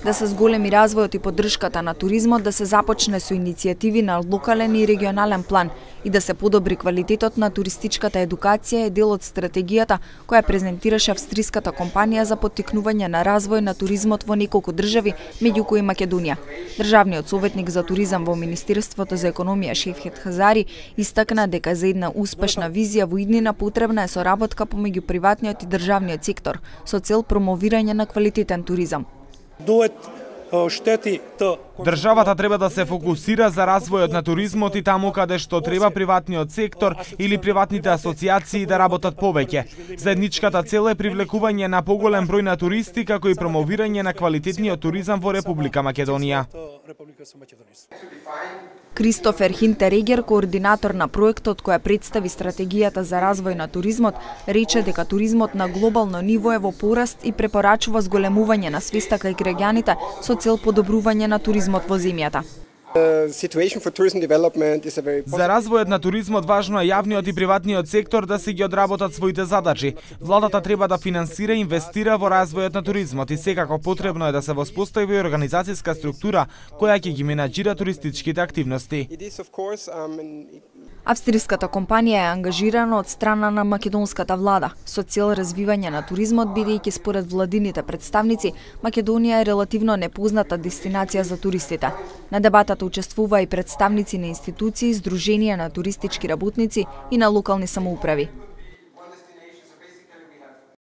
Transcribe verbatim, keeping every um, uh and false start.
Да се зголеми развојот и поддршката на туризмот, да се започне со иницијативи на локален и регионален план и да се подобри квалитетот на туристичката едукација е дел од стратегијата која презентираше австриската компанија за поттикнување на развој на туризмот во неколку држави, меѓу кои Македонија. Државниот советник за туризам во Министерството за економија Шевхет Хазари истакна дека за една успешна визија во иднина потребна е соработка помеѓу приватниот и државниот сектор со цел промовирање на квалитетен туризам. Државата треба да се фокусира за развојот на туризмот и таму каде што треба приватниот сектор или приватните асоциации да работат повеќе. Заедничката цел е привлекување на поголем број на туристи како и промовирање на квалитетниот туризам во Република Македонија. Кристофер Хинтерегер, координатор на проектот која представи стратегијата за развој на туризмот, рече дека туризмот на глобално ниво е во пораст и препорачува зголемување на свеста кај граѓаните со цел подобрување на туризмот во земјата. За развојот на туризмот важно е јавниот и приватниот сектор да си ги одработат своите задачи. Владата треба да финансира и инвестира во развојот на туризмот и секако потребно е да се воспостави организацијска структура која ќе ги менаџира туристичките активности. Австриската компанија е ангажирана од страна на македонската влада со цел развивање на туризмот, бидејќи според владините представници Македонија е релативно непозната дестинација за туристите. На дебатата учествува и представници на институции, здруженија на туристички работници и на локални самоуправи.